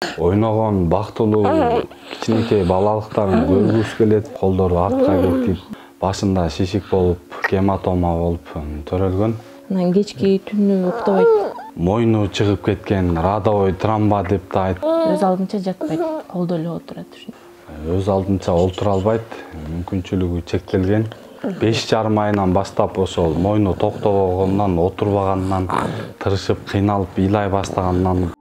Ойногон бактылуу кичинекей балалыктарын көргүбүз келет. Колдору артка кетип, башында шишик болуп, гематома болуп төрөлгөн. Анан кечки түнү уктабайт. Мойну чыгып кеткен, радовой тромба деп да айтып. Өз алдынча жатпайт, колдо эле отурат. Өз алдынча олтура албайт, мүмкүнчүлүгү чектелген. 5,5 айынан баштап ошол мойну токтобогондон, отурбаганынан, тырышып, кыйналып, ыйлай баштаганынан.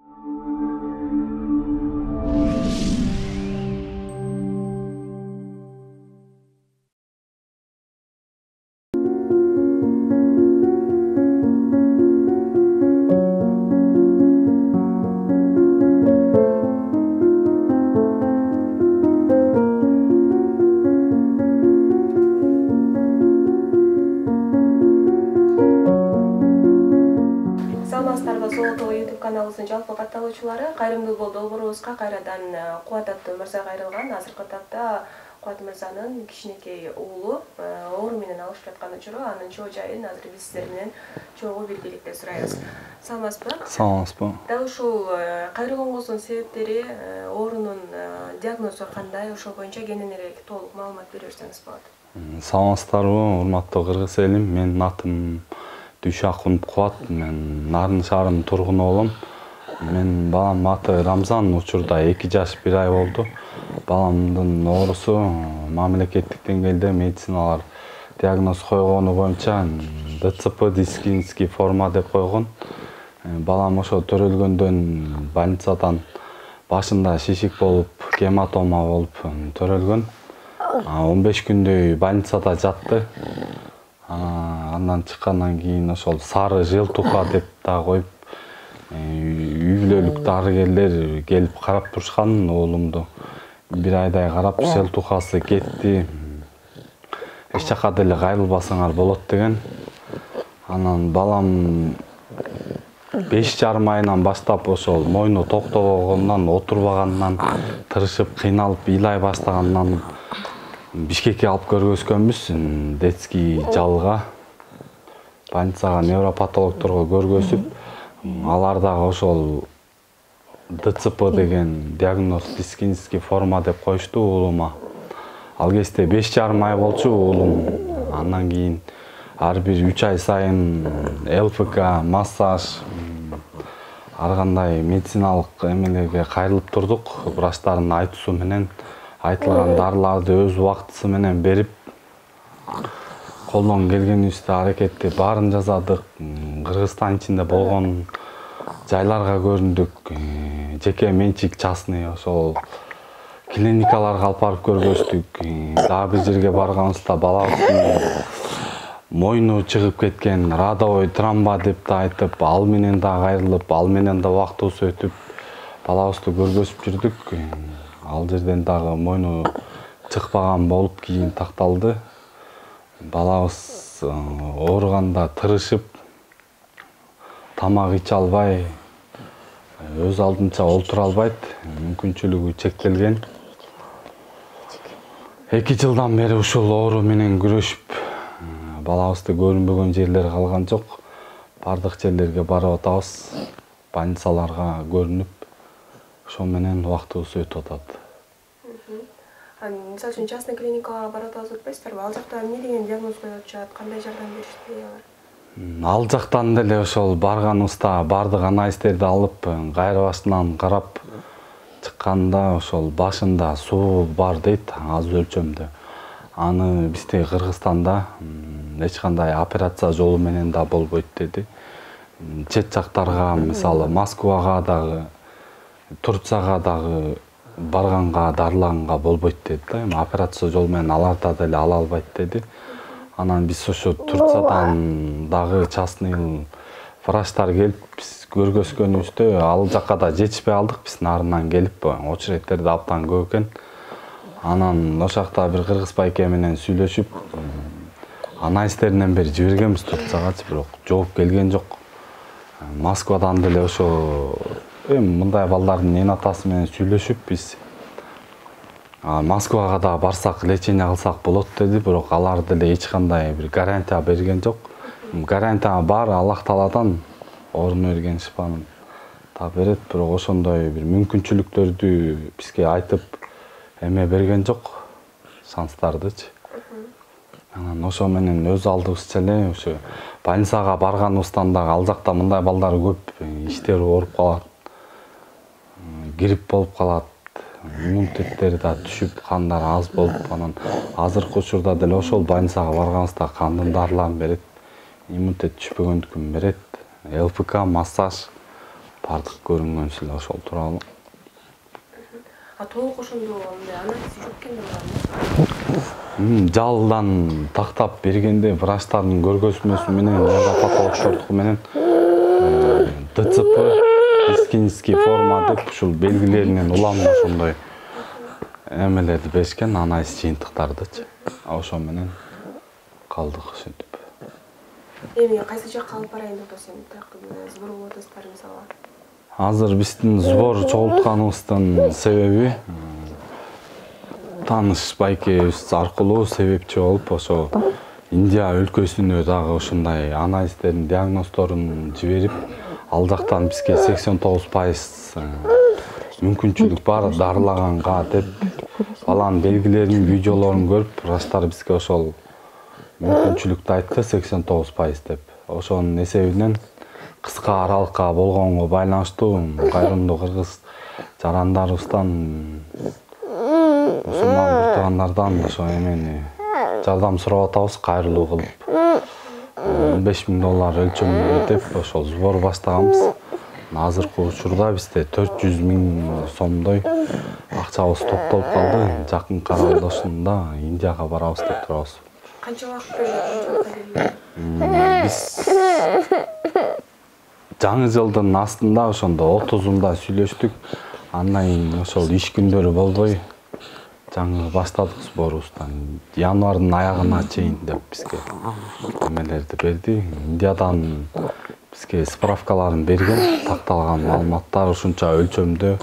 YouTube каналыбыздын жалпы катталуучулары, кайрымдуу долбоорубузга кайрадан Кубат аттуу мырза кайрылган. Азыркы тапта Кубат мырзанын кичинекей уулу оору менен алышып жаткан учуру, анын чоо жайын азыр биз сиздер менен чогуу белгиликте сурайбыз. Саламатсызбы? Саламатсызбы. Дал ушул кайрылгоңуздун себептери, оорунун диагнозу кандай, ошол боюнча кенен эле толук маалымат бере берсеңиз болот. Саламатсыздарбы, урматтуу кыргыз элим. Менин атым Дүйшакун Кубат, мен Нарын шаарынын тургуну болом. Мен балам аты Рамзан, учурда 2 жаш 1 ай болду. Баламдын оорусу мамлекеттик деңгээлде медициналар диагноз койгону боюнча ДЦП дискинский форма деп койгон. Балам ошо төрөлгөндөн больницадан башында шишик болуп, гематома болуп төрөлгөн. 15 күндөй больницада жатты. Андан чыккандан кийин ошол сары желтуха деп да коюп, үй бүлөлүк дарыгерлер келип карап турушкан уулумду. 1 айдай карап, желтухасы кетти. Эч жака деле кайрылбасаңар болот деген. Анан балам 5,5 айынан баштап ошол мойну токтобогондон, отурбаганынан, тырышып, кыйналып, ыйлай баштаганынан Бишкекке алып көргөзгөнбүз, детский жалга. Больницага невропатологторго көргөзүп, алар дагы ошол ДЦП деген диагноз дискинский форма деп коюшту уулума. Ал кезде 5,5 ай болчу уулум. Андан кийин ар бир 3 ай сайын ЛФК, массаж, ар кандай медициналык эмелерге кайрылып турдук. Врачтардын айтуусу менен айтылган дарыларды өз убактысы менен берип, колдон келгенибизде аракетти баарын жасадык. Кыргызстан ичинде болгон жайларга көрүндүк. Жеке менчик частный ошол клиникаларга алып барып көргөздүк. Дагы бир жерге барганыбызда балабыздын мойну чыгып кеткен, радовой тромба деп да айтып, ал менен да кайрылып, ал менен да убактыбыз өтүп, балабызды көргөзүп жүрдүк. Ал жерден дагы мойну чыкпаган болуп кийин такталды. Балабыз ооруганда тырышып, тамак иче албай, өз алдынча олтура албайт, мүмкүнчүлүгү чектелген. 2 жылдан бери ушул оору менен күрөшүп, балабызды көрүнбөгөн жерлер калган жок. Бардык жерлерге барып атабыз, больницаларга көрүнүп, ошол менен убактыбыз өтүп атат. Мисалы үчүн частный клиникаларга барып атпайсыздарбы? Ал жакта эмне деген диагноз коюп атышат, кандай жардам беришти алар? Ал жактан деле ошол барганыбызда бардык анализдерди алып, кайрыбастан карап чыкканда ошол башында суу бар дейт, аз өлчөмдө. Аны бизде Кыргызстанда эч кандай операция жолу менен да болбойт деди. Чет жактарга, мисалы Москвага дагы, Турцияга дагы барганга, дарылаганга болбойт деди да. Операция жолу менен аларда деле ала албайт деди. Анан биз ошо Турциядан дагы частный врачтар келип биз көргөзгөнүбүздө, ал жакка да жетишпей алдык. Биз нарынан келип, очередтер да абдан көп экен. Анан ошол жакта бир кыргыз байке менен сүйлөшүп, анализдеринен бери жибергенбиз Турциягачы, бирок жооп келген жок. Москвадан деле ошо мындай балдардын эн атасы менен сүйлөшүп биз Москвага да барсак, лечение кылсак болот деди, бирок алар деле эч кандай бир гарантия берген жок. Гарантия бар, Аллах Тааладан, орун берген шифанын да берет, бирок ошондой бир мүмкүнчүлүктөрдү бизге айтып эме берген жок, шанстардычы. Анан ошо менен өз алдыбызча эле ошо больницага барганыбыздан дагы ал жакта мындай балдар көп, иштери ооруп калат, грипп болуп калат, иммунитеттери да түшүп, кандары аз болуп, анан азыркы учурда деле ошол больницага барганыбызда кандын дарыларын берет, иммунитет түшпөгөндүкүн берет, ЛФК, массаж бардык көрүнгөнсү эле ошол тууралуу. Толук ошондо анализ жок экен Жалдан тактап бергенде врачтардын көргөзмөсү менен, невропатологдордуку менен ДЦП, дискинский форма деп ушул белгилеринен улам ошондой эмелерди беришкен, анализ жыйынтыктардычы. Ошо менен калдык ошентип. Эми кайсы жакка алып барайын деп атасың? Сбор болуп атасыздар мисалы. Азыр биздин сбор чогултканыбыздын себеби тааныш байкебиз аркылуу себепчи болуп, ошо Индия өлкөсүнө дагы ушундай анализдердин, диагноздорун жиберип, ал жактан бизге 89% мүмкүнчүлүк бар дарылаганга деп баланын белгилерин, видеолорун көрүп, врачтар бизге ошол мүмкүнчүлүктү айтты 89% деп. Ошонун эсебинен кыска аралыкка болгонго байланыштуу кайрымдуу кыргыз жарандарыбыздан, мусулман туугандардан ошо эмени жардам сурап атабыз, кайрылуу кылып. $15,000 өлчөмүндө деп ошол сбор баштаганбыз. Азыркы учурда бизде 400 000 сомдой акчабыз топтолуп калды. Жакынкы аралашында Индияга барабыз деп турабыз. Канча убакыт берди? Биз жаңы жылдын астында ошондо 30-унда сүйлөштүк. Андан кийин ошол иш күндөрү болбой жаңы баштадык сборубуздан. Январдын аягына чейин деп бизге эмелерди берди. Индиядан бизге справкаларын берген, такталган маалыматтар ушунча өлчөмдө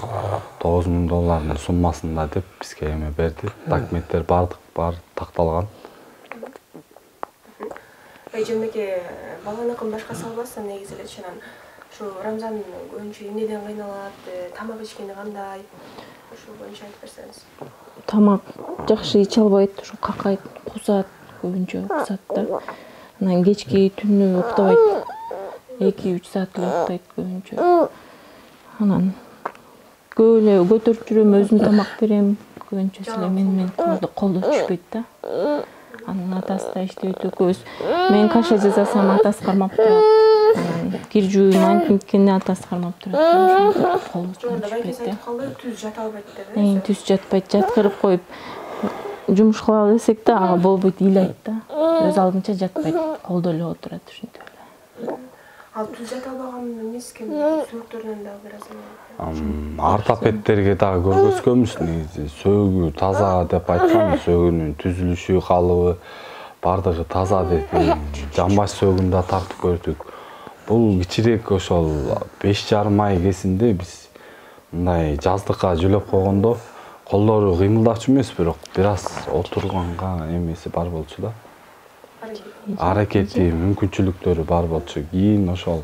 $9,000 суммасында деп бизге эме берди. Документтер баары такталган. Эжемеке баланыкын башкасы албастан негизи эле чынан ушу Рамзан көбүнчө эмнеден кыйналат, тамак ичкени кандай? Ошол боюнча айтып берсеңиз. Тамак жакшы иче албайт, ушу какайт, кусат, көбүнчө кусат да. Анан кечки түнү уктабайт. 2-3 саат эле уктайт көбүнчө. Анан көп эле көтөрүп жүрөм, өзүм тамак берем, көбүнчө эле мен колдо түшпөйт да. Анын атасы да иштеп өтөкөбүз. Мен каша жасасам атасы кармап турат. Кир жууйм, антинткени атасы кармап турат. Колдо түшпөйт да. Түз жата албайт деп. Түз жатпайт, жаткырып коюп жумуш кылалы десек да ага болбойт, ыйлайт да. Өз алдынча жатпайт, колдо эле отурат ушинтип эле. Ал түз жата албаган эмес экен, сөөктөрүнөн дагы бир аз. Ортопедтерге дагы көргөзгөнбүз, негизи сөөгү таза деп айткан, сөөгүнүн түзүлүшү, калыбы бардыгы таза деп жамбаш сөөгүн да тартып көрдүк. Бул кичирээк ошол 5,5 ай кезинде биз мындай жаздыкка жөлөп койгондо колдору кыймылдачу эмес, бирок бир аз отурганга эмеси бар болчу да. Аракети, мүмкүнчүлүктөрү бар болчу. Кийин ошол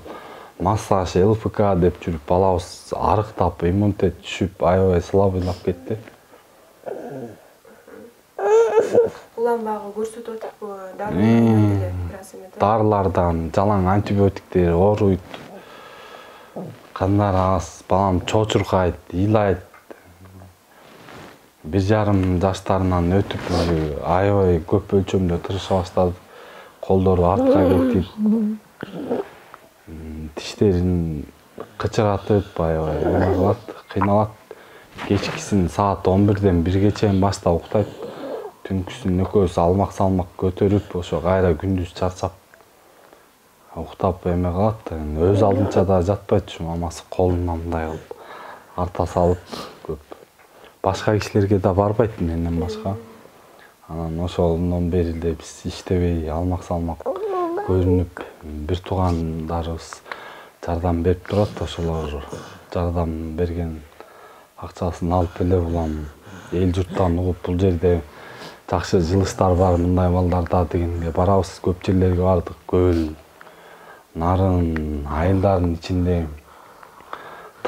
массаж, ЛФК деп жүрүп балабыз арыктап, иммунитет түшүп, аябай слабыйлап кетти. Улам багы көрсөтүп атпы, дарылардан жалаң антибиотиктер ооруйт. Кандары аз, балам чочуркайт, ыйлайт. 1,5 жаштарынан өтүп, аябай көп өлчөмдө тырыша баштады. Колдору артка кетип, тиштерин кычыратып, аябай эме кылат, кыйналат. Кечкисин саат 11-ден 1-ге чейин баштап уктайт. Түнкүсүн экөөбүз алмак-салмак көтөрүп, ошо кайра күндүз чарчап уктап эме кылат. Өз алдынча да жатпайт, мамасы колуна мындай кылып арта салып көп. Башка кишилерге да барбайт менден башка. Анан ошондон бери эле биз иштебей, алмак-салмак көрүнүп, бир туугандарыбыз жардам берип турат, ошолор жардам берген акчасын алып эле улам эл журттан угуп, бул жерде жакшы жылыштар бар, мындай балдарда дегенге барабыз. Көп жерлерге бардык. Көл, Нарын, айылдардын ичинде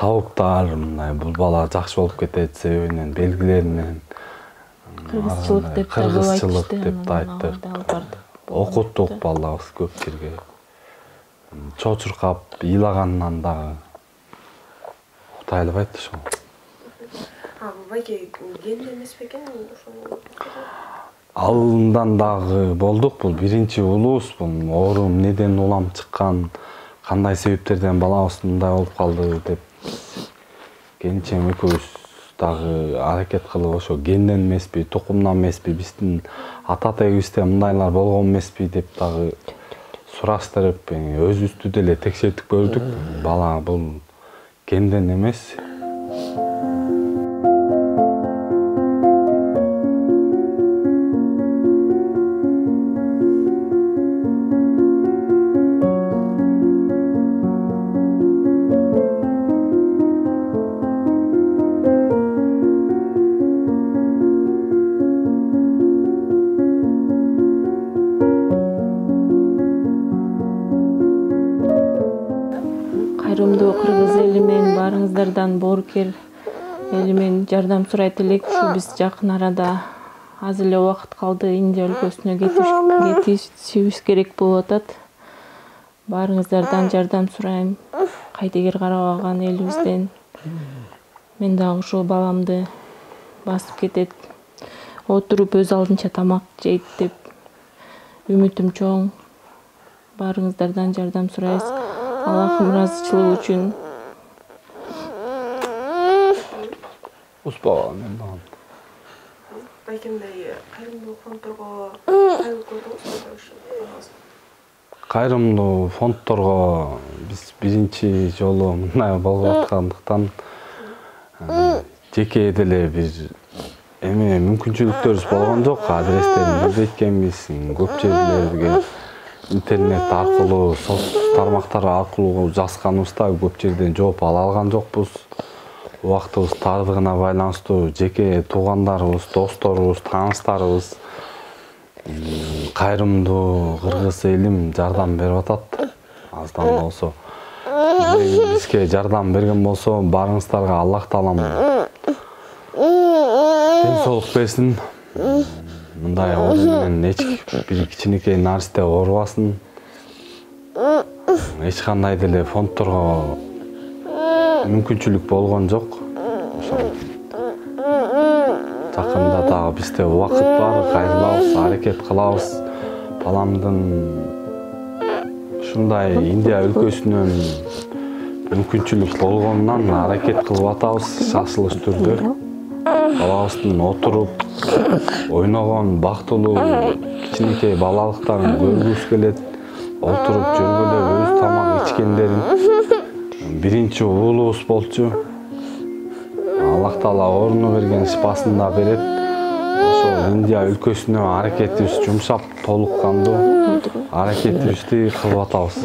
табуктар мындай бул бала жакшы болуп кетет себебинен белгилеринен кыргызчылык деп деп айттык. Окуттук балабыз көп жерге. Чочуркап, ыйлагандан дагы уктай албайт ошол. Байке кенде эмес бекен ошол? Алындан дагы болдук. Бул биринчи улуубуз. Бул оорум неден улам чыккан, кандай себептерден балабыз мындай болуп калды деп келинчем экөөбүз дагы аракет кылып ошо генден эмеспи, тукумдан эмеспи, биздин ата тегибизде мындайлар болгон эмеспи деп дагы сураштырып, өзүбүздү деле текшертип көрдүк. Бала бул генден эмес. Кайрымдуу кыргыз эли менен баарыңыздардан боорукер эли менен жардам сурайт элек. Ушу биз жакын арада аз эле убакыт калды Индия өлкөсүнө кетишибиз керек болуп атат. Баарыңыздардан жардам сурайм. Кайдыгер карабаган элибизден. Мен дагы ушул баламды басып кетет. Отуруп өз алдынча тамак жейт деп үмүтүм чоң. Баарыңыздардан жардам сурайбыз. Аллахым ыраазычылыгы үчүн. Успа мен дагы. Байкемдей кайрымдуу фонддорго кайрылып көрдүңүзбү? Кайрымдуу фонддорго биз биринчи жолу мындай болуп аткандыктан жеке деле бир эме мүмкүнчүлүктөрүбүз болгон жок. Адрестерин билбейткенбиз. Көп жерлерге интернет аркылуу, соц тармактар аркылуу жазганыбызда көп жерден жооп ала алган жокпуз. Убактыбыз тардыгына байланыштуу жеке туугандарыбыз, досторубуз, тааныштарыбыз кайрымдуу кыргыз элим жардам берип атат. Аздан болсо. Бизге жардам берген болсо, баарыңыздарга Аллах таалам ден соолук берсин. Мындай оору менен эч бир кичинекей наристе оорубасын. Эч кандай деле фонддорго мүмкүнчүлүк болгон жок. Жакында дагы бизде убакыт бар, кайрылабыз, аракет кылабыз. Баламдын ушундай Индия өлкөсүнөн мүмкүнчүлүк болгонунан аракет кылып атабыз шашылыш түрдө. Балабыздын отуруп ойногон бактылуу кичинекей балалыктарын көргүбүз келет. Отуруп жүргүлө өз тамак ичкендерин биринчи уулубуз болчу. Аллах таала орну берген шипасын да берет. Ошол Индия өлкөсүнө аракетибиз жумшап толук кандуу аракетибизди кылып атабыз.